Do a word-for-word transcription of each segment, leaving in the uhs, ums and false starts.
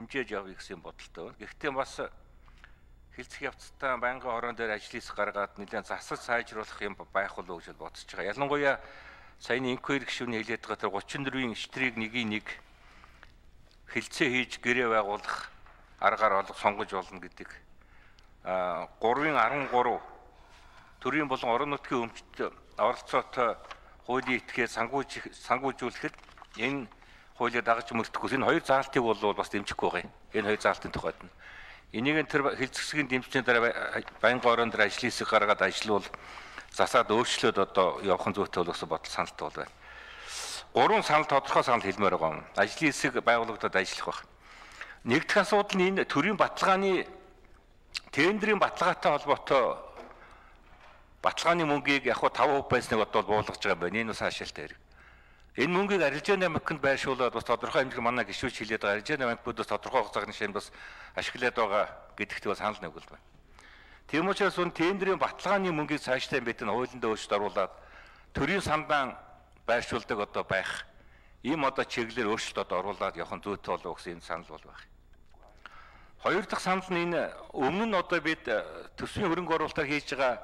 хэмжээж явъя гэсэн бодолтой байна. Гэхдээ бас хэлцэх явцдаа байнгын хорон дээр ажил хийх гаргаад нэлээд засаж сайжруулах юм байх болов уу гэж бодож байгаа. Ялангуяа саяны инквайри гишүүний хэлээд байгаа тэр гучин дөрвийн штрийг нэгийг нэг хэлцээ хийж гэрээ байгуулах аргаар олох сонгож болно гэдэг. А гурвын арван гурав төрийн болон орон нутгийн өмчт оролцоотой хуулийн этгээд сангууж сангуужуулахад энэ хуулийг дагаж мөрдөхгүй. Энэ хоёр заалтыг бол бас дэмжихгүй байгаа юм. Энэ хоёр заалтын тухайд нь. Энийг тэр хэлцэсгийн дэмжлэгийн дараа байнгын орон дээр ажлын хэсэг гаргаад ажиллавал засаад өөрчлөөд одоо явахын зүйтэй болох бодол саналтай бол байна. Гурван санал тодорхой санал хэлмээр байгаа юм. Ажлын хэсэг байгуулагдаад ажиллах байх. Нэгдүгээр асуудал нь энэ төрийн баталгааны тендерийн баталгаатай холбоотой баталгааны мөнгийг яг хуу таван хувь байсныг одоо буулгаж байгаа байна. Энэ бас хаашаалтай хэрэг. Энэ мөнгийг арилжааны банкнд байршуулаад бас тодорхой хэмжээний манай гишүүч хэлээд байгаа. Арилжааны банкудаас тодорхой хугацааны шин бас ашиглаад байгаа гэдэгт бас санал нэг бол байна. Тийм учраас он тендерийн баталгааны мөнгийг цаашдаа битэн хуулиндаа өөрчлөлт оруулаад төрийн сандаан байршуулдаг одоо байх. Ийм одоо чиглэлээр өөрчлөлт одоо оруулаад явах нь зүйтэй болов гэсэн энэ санал бол байна. Хоёр дахь санал нь энэ өмнө нь одоо бид төсвийн хөрөнгө оруулалтаар хийж байгаа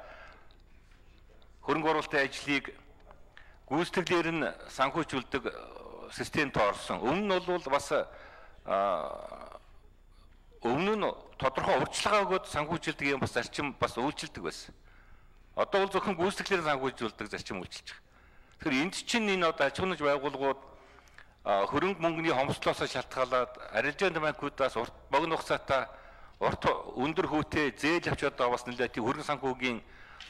хөрөнгө оруулалтын ажлыг гүйцэтгэлээр нь санхүүжүүлдэг системд орсон. Өмнө нь бол бас өмнө нь тодорхой урьдчилгаа өгөөд санхүүжилдэг юм бас зарчим бас үйлчилдэг байсан. Одоо бол зөвхөн гүйцэтгэлээр санхүүжүүлдэг зарчим үйлчилж байгаа. Тэгэхээр энд чинь энэ одоо аж ахуйн байгууллагууд хөрөнгө мөнгөний хомсдлоос шалтгаалаад арилжааны банкудаас урт богино хугацаатай урт өндөр хүүтэй зээл авч одоо бас нэлээд тийм хөрөнгө санхүүгийн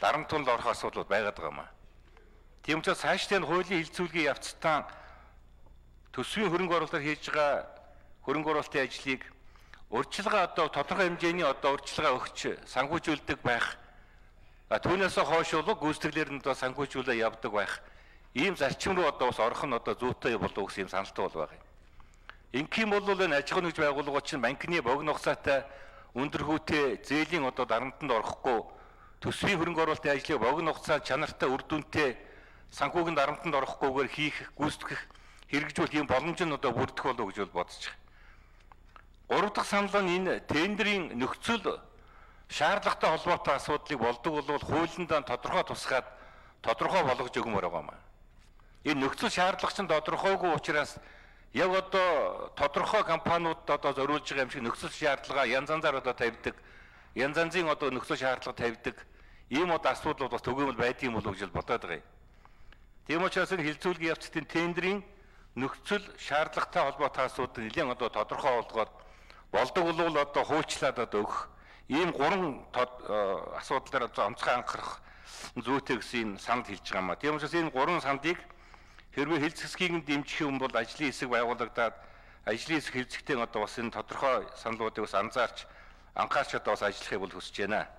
дарамтнд орох асуудал байгаад байгаа юм аа. Тийм учраас цаашдаа хуулийн хилцүүлгийн явцдаа төсвийн хөрөнгө оруулалтаар хийж байгаа хөрөнгө оруулалтын ажлыг урьдчилгаа одоо тодорхой хэмжээний одоо урьдчилгаа өгч санхүүжүүлдэг байх. Түүнээс хойш бол гүйцэтгэлээр нь одоо санхүүжүүлээ явдаг байх. Ийм зарчим руу одоо бас орох нь одоо зүйтэй болов гэсэн юм саналтай бол байгаа юм. Ингээм бол энэ аж ахуйн нэгж байгууллагууд чинь банкны богино хугацаатай өндөр хүүтэй зээлийн одоо дарамтанд орохгүй төсвийн хөрөнгө оруулалтын ажлыг богино хугацаанд чанартай үр дүнтэй санхүүгийн дарамтанд орохгүйгээр хийх гүйцэтгэх хэрэгжүүлэх юм боломж нь одоо бүрдэх болов гэж бол бодож байгаа. Гурав дахь санал нь энэ тендерийн нөхцөл шаардлагатай холбоотой асуудлыг болдог бол хуулиндаа тодорхой тусгаад тодорхой болгож өгмөр байгаа юм. Энэ нөхцөл шаардлага чинь тодорхойгүй учраас яг одоо тодорхой компаниуд одоо зориулж байгаа юм шиг нөхцөл шаардлага янз янзаар одоо тавьдаг, янз янзын одоо нөхцөл шаардлага тавьдаг ийм одоо асуудал бас төгөөмөл байдığım болов гэж бодоод байгаа юм. Тийм учраас энэ хилцүүлгийн явцдын тендерийн нөхцөл шаардлагатай холбоотой асуудал нэлээд одоо тодорхой болгоод болдог бол одоо хуульчлаад одоо өгөх ийм гурван асуудлаар одоо онцгой анхаарах зүйтэй гэсэн санал хэлж байгаа юм а. Тийм учраас энэ гурван сандыг хэрвээ хэлц хэсгийг дэмжих юм бол ажлын хэсэг байгуулагдаад ажлын хэсэг хэлцэгтэй одоо бас энэ тодорхой саналуудыг бас анзаарч анхаарч одоо бас ажиллахыг бол хүсэж байна.